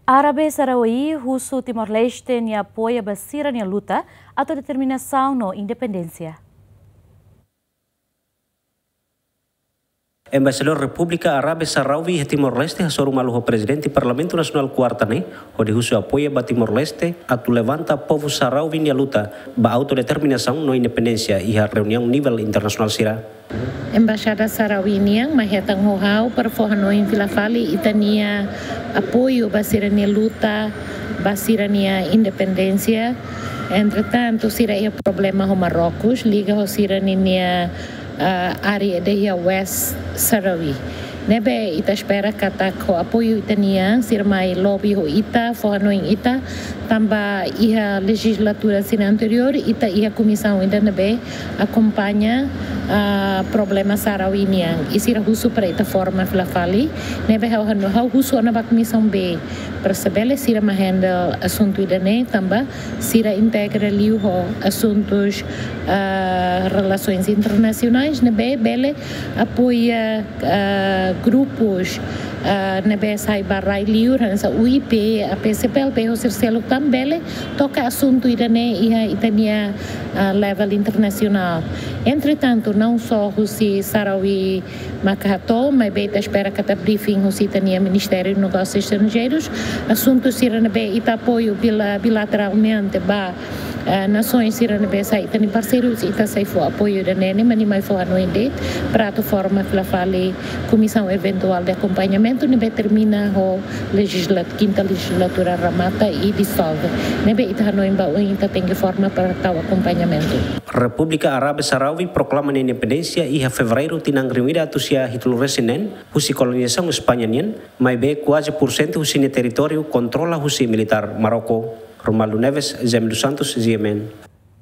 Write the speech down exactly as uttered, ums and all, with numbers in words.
Árabe Sahrawi husu Timor-Leste nia apoia ba sira-nia luta, autodeterminasaun no independénsia. Embaixadór Repúblika Árabe Sahrawi iha Timor-Leste hasoru malu ho Prezidente Parlamentu Nasionál Kuarta ne'e, hodi husu apoia ba Timor-Leste atu levanta povu Sahrawi nia luta ba autodeterminasaun no independénsia iha reuniaun nivel internasionál sira. Embaixada Sahrawi nian mai hetan ho ha'u para fó hanoin fila fali ita-nia apoiu ba sira-nia luta, ba sira-nia independénsia. Entretantu, sira iha problema ho Marrocos, liga ho sira-nia, ah, área ida iha West Sahrawi. Ne'ebé ita espera katak ho apoiu ita-nian, sira mai lobby ho ita, fó hanoin ita, tanba iha lejizlatura sira anteriór, ita iha komisaun ida ne'ebé akompaña, ah, problema Sahrawi nian. I sira husu para ita forma fila fali, ne'ebé ha'u hanu, ha'u husu ona ba Komisaun B, para se bele sira mai handle asuntu ida-ne'e, tanba sira integra liu ho asuntus, ah, relasoens internasionais, ne'ebé bele apoia, ah, grupus, ah, ne'ebé sai ba rai liur, hanesan U I P, A P C P L P, ho sira seluk tan bele toka asuntu ida-ne'e iha ita-nia, ah, level internasionál. Entretantu, não só husi Sahrawi maka hato'o, maibé ita espera katak briefing husi ita-nia Ministériu Negósius Estranjeirus, asuntu sira ne'ebé ita apoiu bila-, bilateralmente ba, eh, nasoens sira ne'ebé sai ita-nia parseiru, ita sei fó apoiu ida-ne'e, nia mai fó hanoin de'it, para atu forma fila fali komisaun eventuál de akompañamentu, ne'ebé termina ho lejizla-, kinta lejizlatura remata i disolve. Ne'ebé ita hanoin ba oin ita tenke forma para tau akompañamentu. Repúblika Árabe Sahrawi proklama nia independénsia iha Fevereiru tinan rihun ida atus sia hitu resin neen, husi kolonizasaun España nian, maibé kuaze pursentu husi nia territóriu kontrola husi militár Marroko. Romualdo Neves, Jaime dos Santos, G M N.